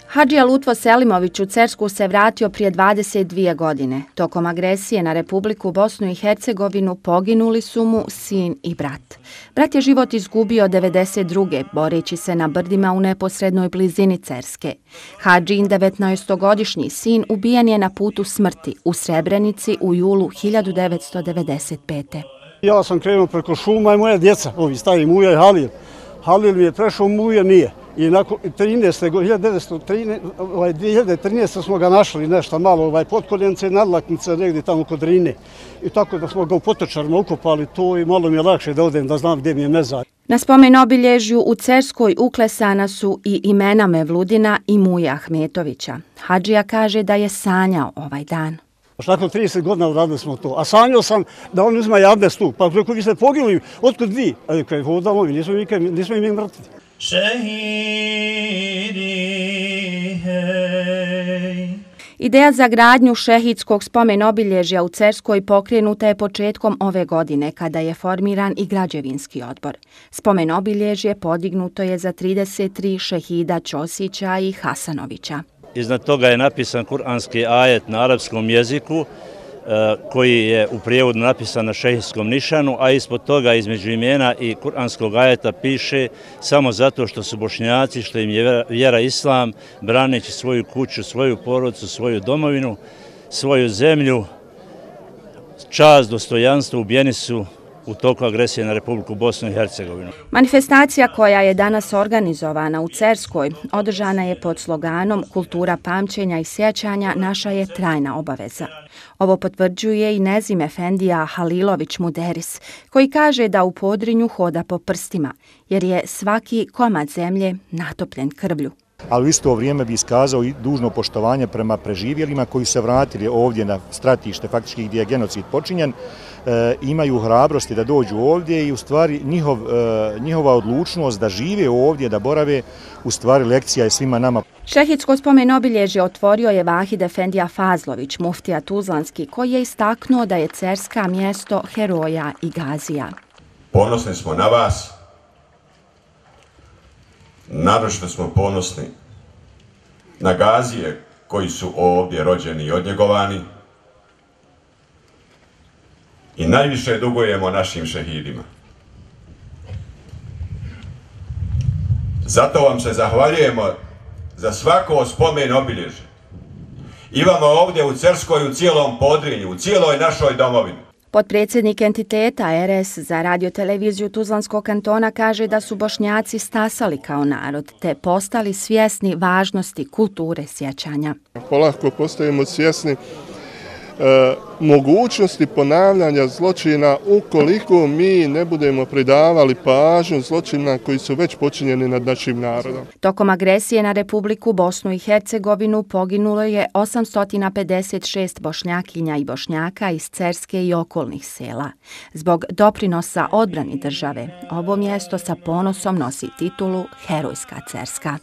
Hadžija Lutvo Selimović u Cersku se vratio prije 22 godine. Tokom agresije na Republiku Bosnu i Hercegovinu poginuli su mu sin i brat. Brat je život izgubio 92. boreći se na brdima u neposrednoj blizini Cerske. Hadžin 19-godišnji sin ubijen je na putu smrti u Srebrenici u julu 1995. Ja sam krenuo preko šuma i moja djeca, ovi stari Muja i Halil. Halil mi je prešao, Muja nije. I nakon 2013. smo ga našli nešto malo potkoljence i nadlaknice negdje tamo kod Drine. I tako da smo ga u potočarima ukopali to i malo mi je lakše da odem da znam gdje mi je mezar. Na spomen obilježju u Cerskoj uklesana su i imena Mevludina i Muje Ahmetovića. Hadžija kaže da je sanjao ovaj dan. Nakon 30 godina uradili smo to. A sanjao sam da on uzma abdest tu. Pa ako vi ste poginuli, otkud vi? A rekao je, hodamo, nismo im mrtvi. Ideja za gradnju šehidskog spomen obilježja u Cerskoj pokrenuta je početkom ove godine kada je formiran i građevinski odbor. Spomen obilježje podignuto je za 33 šehida Ćosića i Hasanovića. Iznad toga je napisan kuranski ajet na arapskom jeziku koji je u prijevodu napisan na šehidskom nišanu, a ispod toga između imena i kuranskog ajeta piše samo zato što su Bošnjaci, što im je vjera islam, braneći svoju kuću, svoju porodicu, svoju domovinu, svoju zemlju, čast, dostojanstvo, ubijeni su u toku agresije na Republiku Bosnu i Hercegovinu. Manifestacija koja je danas organizovana u Cerskoj održana je pod sloganom Kultura pamćenja i sjećanja naša je trajna obaveza. Ovo potvrđuje i Nezim Efendija Halilović Muderis, koji kaže da u Podrinju hoda po prstima, jer je svaki komad zemlje natopljen krvlju. Ali u isto vrijeme bi iskazao i dužno poštovanje prema preživjelima koji se vratili ovdje na stratište faktički gdje je genocid počinjen, imaju hrabrosti da dođu ovdje i u stvari njihova odlučnost da žive ovdje, da borave, u stvari lekcija je svima nama. Šehidsko spomen obilježje otvorio je Vahid Efendija Fazlović, muftija Tuzlanski, koji je istaknuo da je Cerska mjesto heroja i gazija. Ponosni smo na vas, naročito smo ponosni na gazije koji su ovdje rođeni i odnjegovani i najviše dugujemo našim šehidima. Zato vam se zahvaljujemo za svako spomen obilježje. Imamo ovdje u Cerskoj, u cijelom Podrinju, u cijeloj našoj domovini. Potpredsjednik entiteta RS za radioteleviziju Tuzlanskog kantona kaže da su Bošnjaci stasali kao narod te postali svjesni važnosti kulture sjećanja. Polako postajemo svjesni mogućnosti ponavljanja zločina ukoliko mi ne budemo pridavali pažnju zločina koji su već počinjeni nad našim narodom. Tokom agresije na Republiku Bosnu i Hercegovinu poginulo je 856 Bošnjakinja i Bošnjaka iz Cerske i okolnih sela. Zbog doprinosa odbrani države, ovo mjesto sa ponosom nosi titulu Herojska Cerska.